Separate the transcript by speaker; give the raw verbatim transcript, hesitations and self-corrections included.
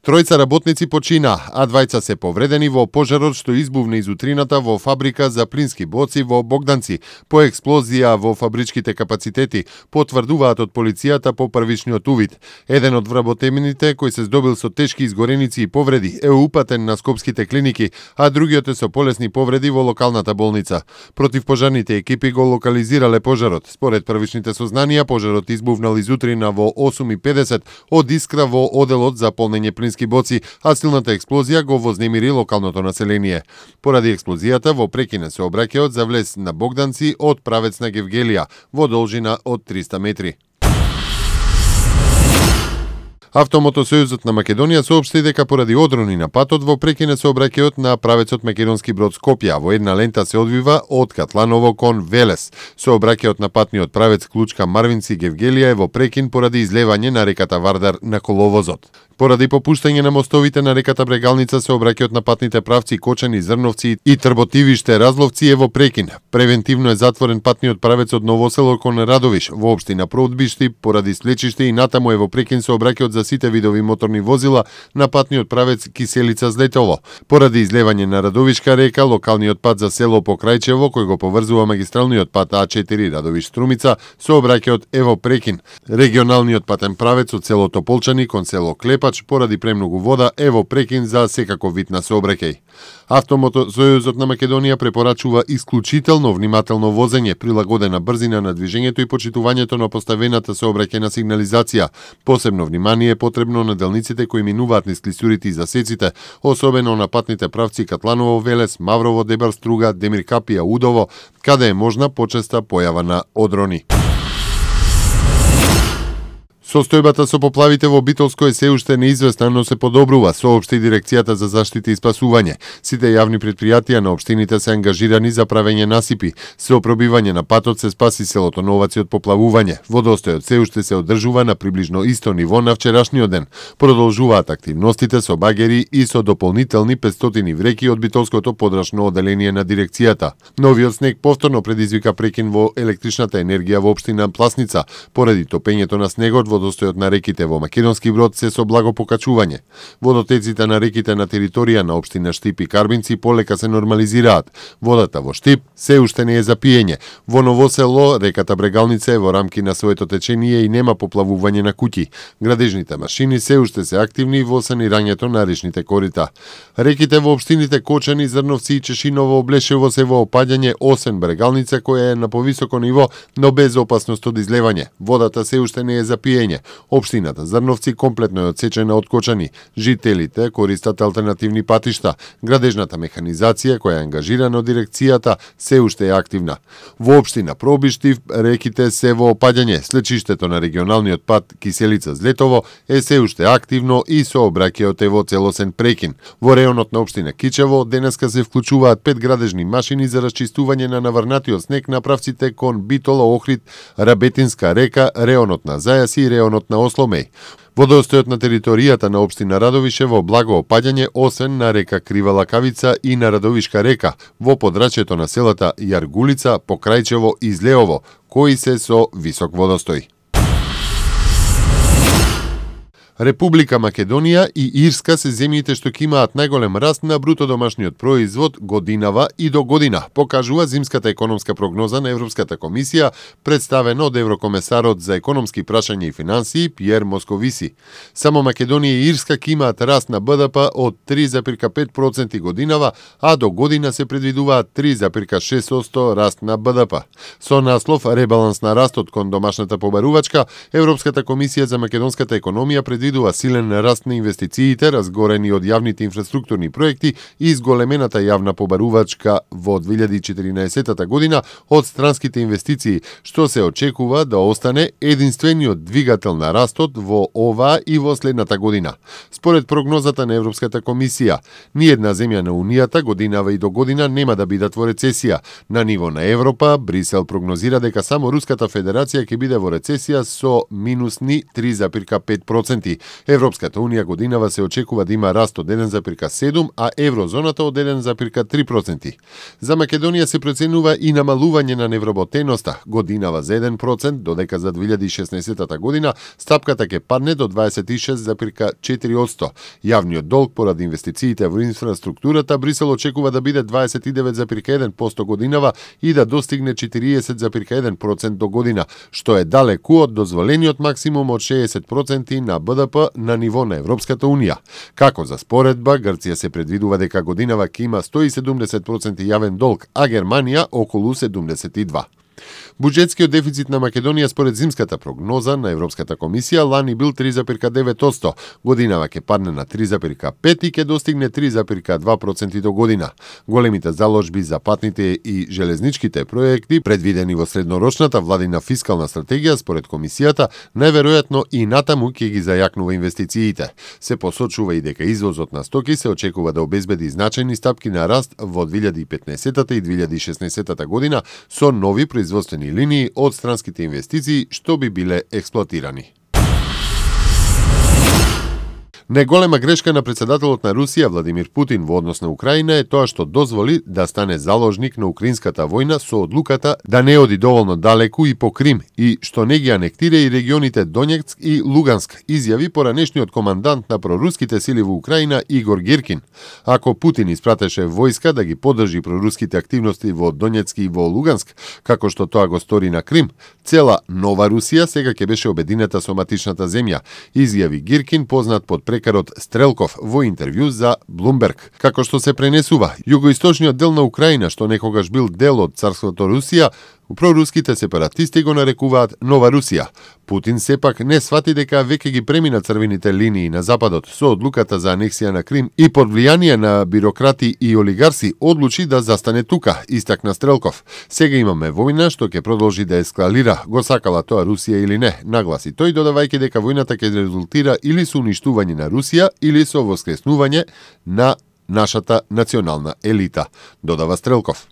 Speaker 1: Тројца работници почина, а двајца се повредени во пожарот што избувна из утрината во фабрика за плински боци во Богданци по експлозија во фабричките капацитети, потврдуваат од полицијата по првичниот увид. Еден од вработените кој се здобил со тешки изгореници и повреди е упатен на скопските клиники, а другиот е со полесни повреди во локалната болница. Противпожарните екипи го локализирале пожарот. Според првичните сознанија, пожарот избувнал изутрина во осум и педесет од искра во оделот за полнење плински боци, а силната експлозија го вознемири локалното население. Поради експлозијата во прекине сообраќајот за влез на Богданци од правец на Гевгелија во должина од триста метри. Автомотосојузот на Македонија соопшти дека поради одрони на патот во прекине сообраќајот на правецот Македонски Брод Скопје, во една лента се одвива од Катланово кон Велес. Сообраќајот на патниот правец Клучка Марвинци Гевгелија е во прекин поради излевање на реката Вардар на коловозот. Поради попуштање на мостовите на реката Брегалница, сообраќајот на патните правци Кочани, Зрновци и Трботивиште, Разловци е во прекин. Превентивно е затворен патниот правец од Новосело кон Радовиш во општина Проудбишти поради слечиште и натаму е во прекин сообраќајот за сите видови моторни возила на патниот правец Киселица Злетово. Поради излевање на Радовишка река, локалниот пат за село Покрајчево, кој го поврзува магистралниот пат А четири Радовиш Струмица, сообраќајот е во прекин. Регионалниот патен правец од село Тополчани кон село Клепа поради премногу вода е во прекин за секаков вид на сообраќај. Автомотосојузот на Македонија препорачува исклучително внимателно возење, прилагодена брзина на движењето и почитувањето на поставената сообраќајна сигнализација. Посебно внимание е потребно на делниците кои минуваат низ клисурите и засеците, особено на патните правци Катланово Велес, Маврово Дебар Струга, Демир Капија Удово, каде е можна почеста појава на одрони. Состојбата со поплавите во Битолско е се уште неизвестна, но се подобрува, соопшти Дирекцијата за заштита и спасување. Сите јавни предпријатија на општините се ангажирани за правење насипи. Со пробивање на патот се спаси селото Новаци од поплавување. Водостојот се уште се одржува на приближно исто ниво на вчерашниот ден. Продолжуваат активностите со багери и со дополнителни петстотини вреки од Битолското подрачно оделение на дирекцијата. Новиот снег повторно предизвика прекин во електричната енергија во општина Пласница. Поради топењето на снегот, водостојот на реките во Македонски Брод се со благо покачување. Водотеците на реките на територија на општина Штип и Карбинци полека се нормализираат. Водата во Штип се уште не е за пиење. Во Новосело реката Брегалница е во рамки на своето течение и нема поплавување на куќи. Градежните машини се уште се активни во санирањето на речните корита. Реките во општините Кочани, Зрновци и Чешиново Облешево се во опаѓање, освен Брегалница која е на повисоко ниво, но без опасност од излевање. Водата се уште не е за пиење. Општината Зрновци комплетно е одсечена од Кочани. Жителите користат алтернативни патишта. Градежната механизација која е ангажирана од дирекцијата се уште е активна. Во општина Пробишти реките се во опаѓање. Слечиштето на регионалниот пат Киселица Злетово е се уште активно и сообраќајот е во целосен прекин. Во реонот на општина Кичево денеска се вклучуваат пет градежни машини за расчистување на наврнатиот снег на правците кон Битола, Охрид, Рабетинска река, реонот на Зајас и реонот на Осломеј. Водостојот на територијата на општина Радовиш е во благо опаѓање, освен на река Крива Лакавица и на Радовишка река, во подрачјето на селата Јаргулица, Покрајчево и Злеово, кои се со висок водостој. Република Македонија и Ирска се земјите што ќе имаат најголем раст на бруто домашниот производ годинава и до година, покажува зимската економска прогноза на Европската комисија, представена од еврокомесарот за економски прашања и финансии Пиер Московиси. Само Македонија и Ирска ќе имаат раст на Б Д П од три зарез пет проценти годинава, а до година се предвидуваат три зарез шест проценти раст на Б Д П. Со наслов Ребаланс на растот кон домашната побарувачка, Европската комисија за македонската економија предвидува силен раст на инвестициите, разгорени од јавните инфраструктурни проекти и изголемената јавна побарувачка во две илјади и четиринаесета година од странските инвестиции, што се очекува да остане единствениот двигател на растот во оваа и во следната година. Според прогнозата на Европската комисија, ниедна земја на Унијата годинава и до година нема да бидат во рецесија. На ниво на Европа, Брисел прогнозира дека само Руската Федерација ќе биде во рецесија со минусни три зарез пет проценти. проценти. Европската унија годинава се очекува да има раст од еден зарез седум, а еврозоната од еден зарез три проценти. За Македонија се проценува и намалување на невработеноста годинава за еден процент, додека за две илјади и шеснаесетта година стапката ќе падне до дваесет и шест зарез четири одсто. Јавниот долг поради инвестициите во инфраструктурата Брисел очекува да биде дваесет и девет зарез еден процент годинава и да достигне четириесет зарез еден процент до година, што е далеку од дозволениот максимум од шеесет проценти на Б Д П на ниво на Европската унија. Како за споредба, Грција се предвидува дека годинава ќе има сто и седумдесет проценти јавен долг, а Германија околу седумдесет и два. Буџетскиот дефицит на Македонија според зимската прогноза на Европската комисија лани бил три зарез девет одсто, годинава ќе падне на три зарез пет и ќе достигне три зарез два проценти до година. Големите заложби за патните и железничките проекти, предвидени во среднорочната владина фискална стратегија, според комисијата, најверојатно и натаму ќе ги зајакнува инвестициите. Се посочува и дека извозот на стоки се очекува да обезбеди значајни стапки на раст во две илјади и петнаесетта и две илјади и шеснаесетта година со нови производствени линии од странските инвестиции што би биле експлоатирани. Најголема грешка на председателот на Русија Владимир Путин во однос на Украина е тоа што дозволи да стане заложник на украинската војна со одлуката да не оди доволно далеку и по Крим и што не ги анектира и регионите Донецк и Луганск, изјави поранешниот командант на проруските сили во Украина Игор Гиркин. Ако Путин испратеше војска да ги поддржи проруските активности во Донецк и во Луганск, како што тоа го стори на Крим, цела нова Русија сега ќе беше обединета со матичната земја, изјави Гиркин, познат под прекарот Стрелков во интервју за Bloomberg. Како што се пренесува, југоисточниот дел на Украина, што некогаш бил дел од царството Русија, проруските сепаратисти го нарекуваат Нова Русија. Путин сепак не свати дека веќе ги премина црвените линии на Западот со одлуката за анексија на Крим и под влијание на бюрократи и олигарси одлучи да застане тука, истакна Стрелков. Сега имаме војна што ќе продолжи да ескалира, го сакала тоа Русија или не, нагласи тој, додавајќи дека војната ќе резултира или со уништување на Русија или со воскреснување на нашата национална елита, додава Стрелков.